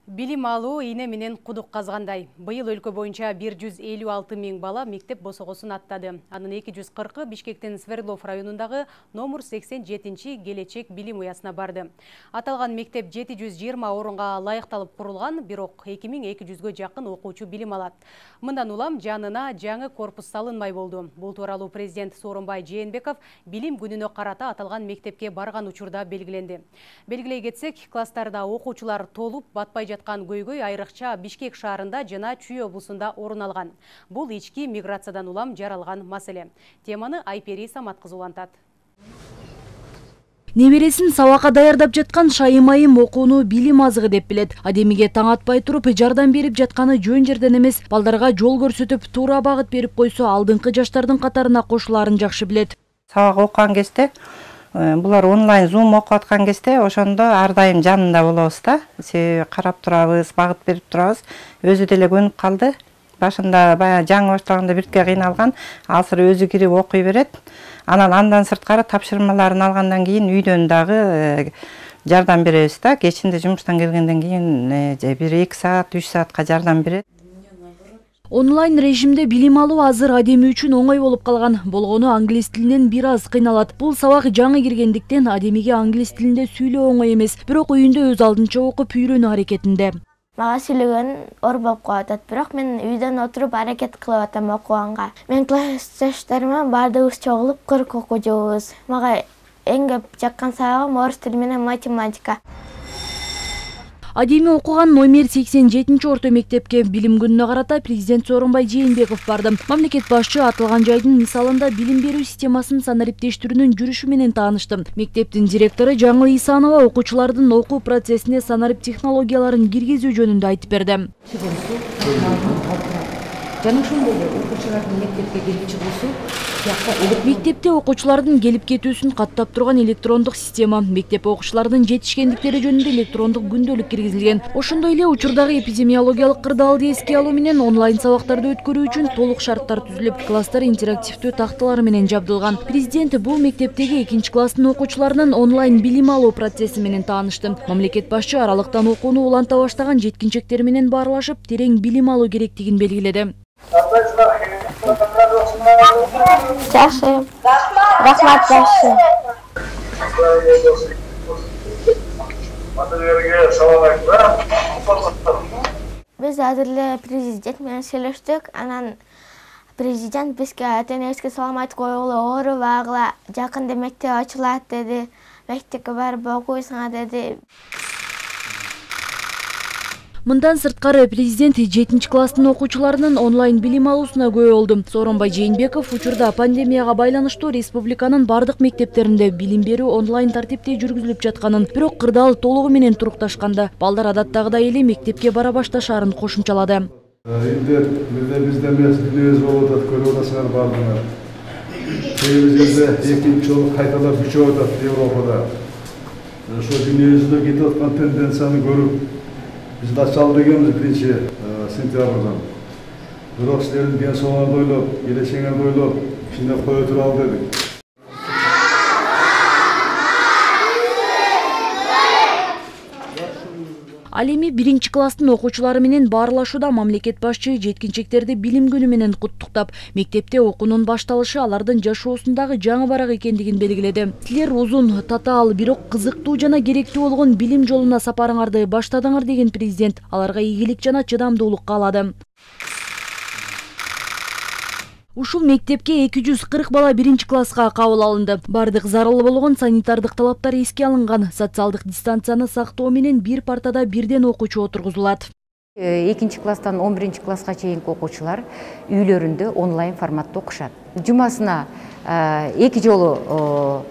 Билим алуу ийне менен кудук казгандай. Быйыл өлкө боюнча 156 000 бала мектеп босогосун аттады. Анын 240-ы Бишкектин Свердлов районундагы номер 87 Келечек билим уясына барды. Аталган мектеп 720 орунга лайыкталып курулган, бирок 2200-гө жакын окуучу билим алат. Мындан улам жанына жаңы корпус салынмай болду. Бул тууралуу президент Сооронбай Жээнбеков билим күнүнө карата аталган мектепке барган учурда белгиленди. Белгилей кетсек, класстарда окуучулар толуп батпай жаткан көйгөй айрыкча Бишкек шаарында жана Чүй облусунда орун алган. Бул ички миграциядан улам жаралган маселе. Теманы Айпери Самат кызы улантат. Небересин сабакка даярдап жаткан Шайым окууну билим азыгы деп билет. Адемиге таң атпай туруп жардам берип жатканы жөн жерден эмес, балдарга жол көрсөтүп, туура багыт берип койсо, алдыңкы жаштардын катарына кошулаарын жакшы билет. Сабак окуган кезде булар онлайн зум окуп аткан кезде ошондо ар дайым жанында болобуз да. Карап турабыз, багыт берип турабыз. Өзү деле көнүп калды. Башында баягы жаңы баштаганда биртке кыйналган, азыр өзү кирип окуй берет. Андан сырткары тапшырмаларын алгандан кийин үйдөн дагы жардам беребиз да. Кечинде жумуштан келгенден кийин 1-2 саат, 3 саатка жардам берет. Онлайн режимде билим алуу азыр адеми үчүн оңой болуп калган. Болгону англис тилинен бир аз кыйналат. Бул сабак жаңы киргендиктен адемиге англис тилинде сүйлөө оңой эмес, бирок үйүндө өз алдынча окуп үйрөнүү аракетинде. Мага сүйлөгөн оор болуп калат, бирок мен үйдөн отуруп аракет кылып атам окуганга. Мен классташтарыма баардыгыбыз чогулуп 40 окуучубуз. Мага эң көп жаккан сабагым орус тили менен математика. Адеми окуган номер 87 орто мектепке билим күнүнө карата президент Сооронбай Жээнбеков барды. Мамлекет башчы аталган жайдын мисалында билим берүү системасын санариптештирүүнүн жүрүшү менен таанышты. Мектептин директору Жаңыл Исанова окуучулардын окуу процессине санарип технологияларын киргизүү жөнүндө айтып берди. Жана ошондой окуучулардын мектепке келип чыгуусу Мектепте окуучулардын келип кетүүсүн каттап турган электрондук система, мектеп окуучулардын жетишкендиктери жөнүндө электрондук күндөлүк киргизилген. Ошондой эле учурдагы эпидемиологиялык кырдаалды эске алуу менен онлайн сабактарды өткөрүү үчүн толук шарттар түзүлүп, класстар интерактивдүү такталар менен жабдылган. Президент бул мектептеги 2-класстын окуучуларынын онлайн билим алуу процесси менен таанышты. Мамлекет башчы аралыктан окууну уланта баштаган жеткинчектер менен баарлашып, терең билим алуу керектигин белгиледи. Жакшы. Рахмат, жакшы. Биз азыр эле президент менен сүйлөштүк. Анан президент бизге ата-энебизге салам айтып койгулу, оорубагыла, жакында мектеп ачылат деди. Мектепке барып окуйсуңар деди. Мындан сырткары президент 7-класстын окуучуларынын онлайн билим алуусуна күбө болду. Сооронбай Жээнбеков учурда пандемияга байланыштуу республиканын бардык мектептеринде билим берүү онлайн тартипте жүргүзүлүп жатканын, бирок кырдаал толугу менен турукташканда балдар адаттагыдай эле мектепке бара башташаарын кошумчалады. Бизде эмес, дүнүбүз болуп атат, көрүп атасыңар бардыңар. Кээ жерде экинчи жолу кайталап күчөп атат Европада. Ошо дүнүбүздө кетип аткан тенденцияны көрүп biz de açalım degemiz 1 sentябрдан. Бирок силердин ден соолугуңарды ойлоп, келечегиңерди ойлоп, ишине кое туралы дедик. Ал эми 1-класстын окуучулары менен баарлашууда мамлекет башчы жеткинчектерди билим күнү менен куттуктап, мектепте окуунун башталышы алардын жашоосундагы жаңы барак экендигин белгиледи. Силер узун, татаал, бирок кызыктуу жана керектүү болгон билим жолуна сапарыңарды баштадыңар деген президент аларга ийгилик жана чыдамдуулук каалады. Ушул мектепке 240 бала 1-класска кабыл алынды. Бардык зарыл болгон санитардык талаптар эске алынган. Социалдык дистанцияны сактоо менен бир партада бирден окуучу отургузулат. 2-класстан 11-класска чейинки окуучулар үйлөрүндө онлайн форматта окушат. Жумасына 2 жолу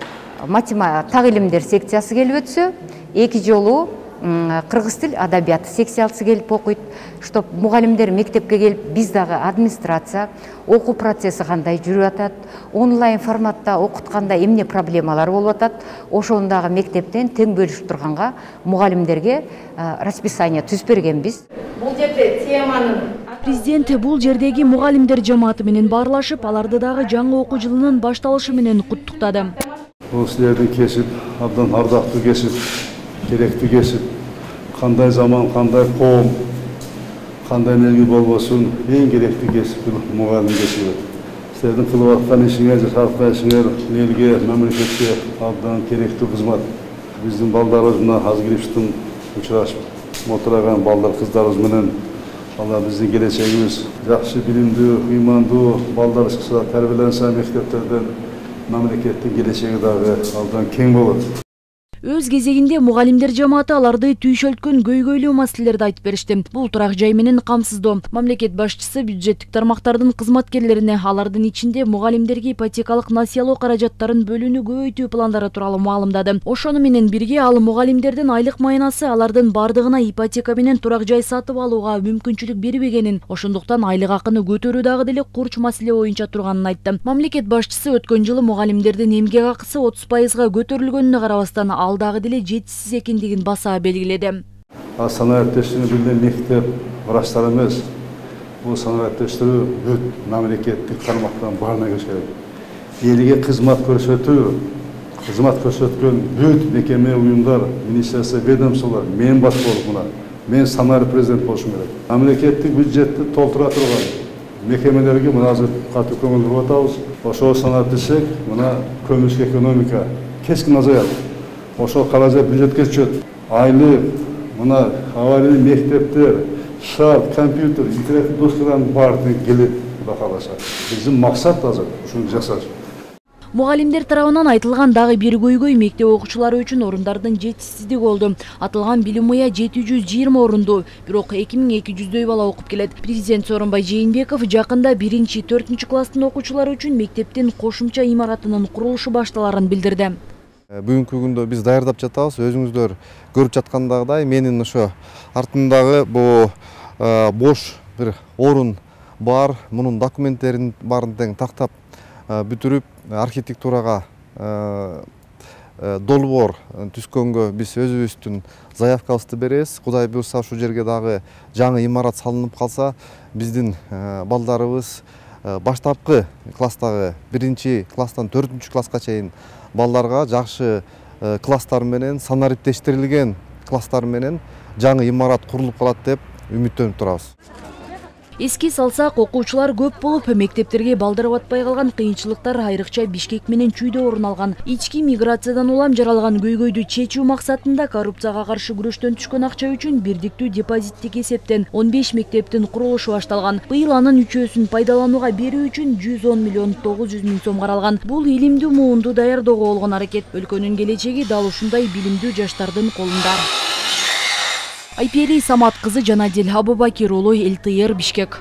математика так илимдер секциясы келип өтсө, 2 жолу кыргыз тил адабияты секциясы келип окуйт, чтоб мугалимдер мектепке келип, биз дагы администрация окуу процесси кандай жүрүп атат, онлайн форматта окутканда эмне проблемалар болуп атат, ошону дагы мектептен тең бөлүшүп турганга мугалимдерге расписание түзүп бергенбиз. Бул жерде теманын Президент бул жердеги мугалимдер жамааты менен баарлашып, аларды дагы жаңы окуу жылынын башталышы менен куттуктады. Бул силердин кесип, абдан ардактуу кесип, керектүү кесип, Кандай заман, кандай коом, кандай энерги болбосун, эң керектүү кесип мугалим кесиби. Силердин кылып аткан ишиңер, жасап аткан ишиңер элге, мамлекетке абдан керектүү кызмат. Биздин балдарыбыз мына азыр кириптин учурашып отурган балдар, кыздарыбыз менен Алла биздин келечегибиз жакшы билимдүү, ыймандуу балдар чыкса, тарбияленсе мектептерден мамлекеттин келечеги дагы абдан кең болот. Өз кезегинде мугалимдер жамааты аларды түйшөлткөн көйгөйлүү маселелерди айтып беришти. Бул турак жай менен камсыздоо. Мамлекет башчысы бюджеттик тармактардын кызматкерлерине алардын ичинде мугалимдерге ипотекалык насыялоо каражаттарын бөлүүнү көбөйтүү пландары тууралуу маалымдады. Ошону менен бирге ал мугалимдердин айлык майнасы алардын бардыгына ипотека менен турак жай сатып алууга мүмкүнчүлүк бербегенин, ошондуктан айлык акыны көтөрүү дагы деле курч маселе боюнча турганын айтты. Мамлекет башчысы өткөн жылы мугалимдердин эмгек акысы 30%га көтөрүлгөнүнө карабастан ал дагы деле жетишсиз экендигин баса белгиледи. Санариптештирүү бир мектеп врачтар эмес. Бул санариптештирүү бүт мамлекеттик тармактан баарына кириш керек. Элге кызмат көрсөткөн бүт мекеме, уюмдар, министрликтер, ведомстволор мен баш болуп мына. Мен санарип президент болушум керек. Мамлекеттик бюджетти толтура турган мекемелерге мына азыр катуу көңүл буруп атабыз. Ошо санап десек, мына көмүрсүз экономика кескин азаят. Ошол каражат бюджетке түшөт. Айлык, мына аварий мектептер, шарт, компьютер, интернет достугунан баардыгы келет, Кудай кааласа. Биздин максат азыр ушуну жасаш. Мугалимдер тарабынан айтылган дагы бир көйгөй мектеп окуучулары үчүн орундардын жетишсиздиги болду. Атылган билим уя 720 орунду, бирок 2200дөй бала окуп келет. Президент Сооронбай Жээнбеков жакында 1-4 класстын окуучулары үчүн мектептин кошумча имаратынын курулушу башталарын билдирди. Бүгүнкү күндө биз даярдап жатабыз. Өзүңүздөр көрүп жаткандагыдай, менин ошо артымдагы бул бош бир орун бар. Мунун документтерин баарын тең тактап бүтүрүп, архитектурага долбоор түзгөнгө биз өзүбүздүн заявкабызды беребиз. Кудай буйрса ушул жерге дагы жаңы имарат салынып калса, биздин балдарыбыз баштапкы класстагы 1-класстан 4-класска чейин балдарга жакшы класстар менен, санариптештирилген класстар менен жаңы имарат курулуп калат деп үмүттөнүп турабыз. Эске салсак, окуучулар көп болуп, мектептерге балдар батпай калган кыйынчылыктар айрыкча Бишкек менен Чүйдө орун алган. Ички миграциядан улам жаралган көйгөйдү чечүү максатында коррупцияга каршы күрөштөн түшкөн акча үчүн бирдиктүү депозиттик эсептен 15 мектептин курулушу башталган. Быйыл анын 3-өсүн пайдаланууга берүү үчүн 110 миллион 900 миң сом каралган. Бул илимдүү муунду даярдоого болгон аракет. Өлкөнүн келечеги дал ушундай билимдүү жаштардын колунда. Айпери Самат кызы Жанадил Абубакир уулу, ЛТР, Бишкек.